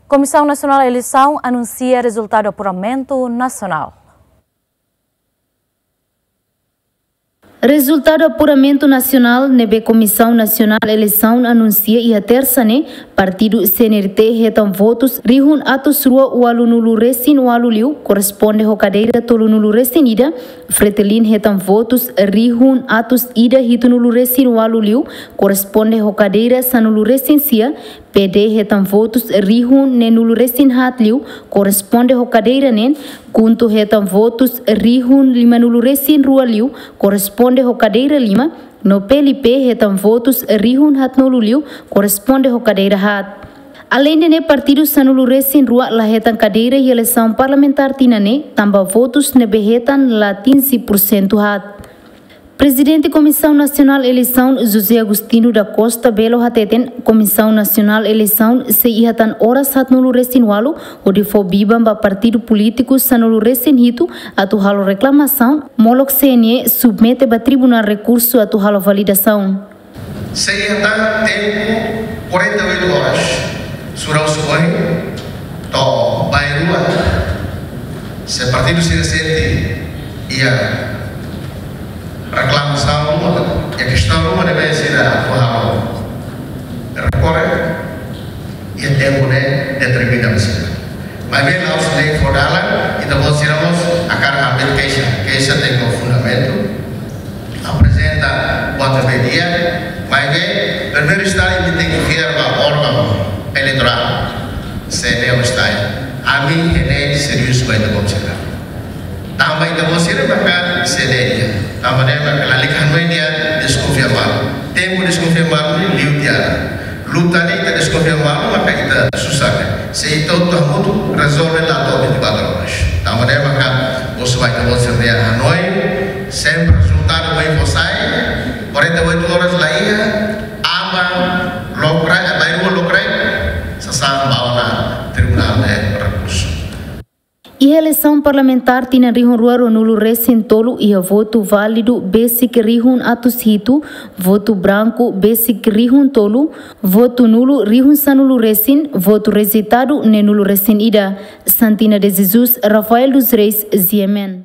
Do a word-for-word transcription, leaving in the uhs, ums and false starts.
Komisaun Nasionál Eleisaun anunsia rezultadu apuramentu nasionál. Rezultadu apuramentu nasionál ne'ebé Komisaun Nasionál Eleisaun anunsia iha Tersa ne'e, partidu C N R T hetan votus rihun atus rua ualu nulu resin ualu liu, korresponde ho kadeira tolu nulu resin ida, Fretilin hetan votus rihun atus ida hitu nulu resin ualu liu, korresponde ho kadeira sanulu resin sia, P D hetan votus rihun neen nulu resin haat liu, korresponde ho kadeira neen, KHUNTO hetan votus rihun lima nulu resin rua liu, korresponde ho kadeira lima, no P L P hetan votus rihun haat nulu liu, korresponde ho kadeira haat. Aleinde ne'e, partidu sanulu resin rua la hetan kadeira iha eleisaun parlamentár tinan ne'e, tanba votus ne'ebé hetan la atinje pursentu haat. Prezidente Komisaun Nasionál Eleisaun, José Agostinho da Costa Belo hateten, Komisaun Nasionál Eleisaun sei iha tan oras haat nulu resin ualu hodi fó biban ba partidu polítiku sanulu resin hitu atu halo reklamasaun, molok C N E submete ba tribunál rekursu atu halo validasaun. Sei iha tan tempu quarenta e oito horas, sura husu ohin to'o bainrua, se partidu sira sente iha reklamasaun ruma, iha kestaun ruma ne'ebé sira atu halo rekorre, iha tempu ne'e determina ba sira. Maibé la'ós lei fó dalan, ita-boot sira mós hakarak hamriik keixa, keixa tenke ho fundamentu, aprezenta buat ne'ebé di'ak, maibé primeiru stadi ita tenke fiar ba órgaun eleitorál, C N E ou STAE. Ami hatene serius ba ita-boot sira. Tanba ita-boot sira maka C N E nian. Tanba ne'e maka lalika hanoin nia deskonfia malu. Tempu deskonfia malu ne'e liu tiha ona. Luta ne'e ita deskonfia malu maka ita susar ona. Se ita hotu hamutuk rezolve la to'o vinte e quatro horas. Tanba ne'e maka husu ba ita-boot sira-nia hanoin, sempre rezultadu bainrua fó sai, quarenta e oito horas la iha, aban lokraik, bainrua lokraik, sasán ba ona tribunál de rekursu. Iha eleisaun parlamentár tinan rihun rua ruanulu resin tolu iha votu válidu besik rihun atus hitu, votu branku besik rihun tolu, votu nulu rihun sanulu resin, votu rejeitadu neenulu resin ida. Santina de Jesus, Rafael dos Reis, G M N.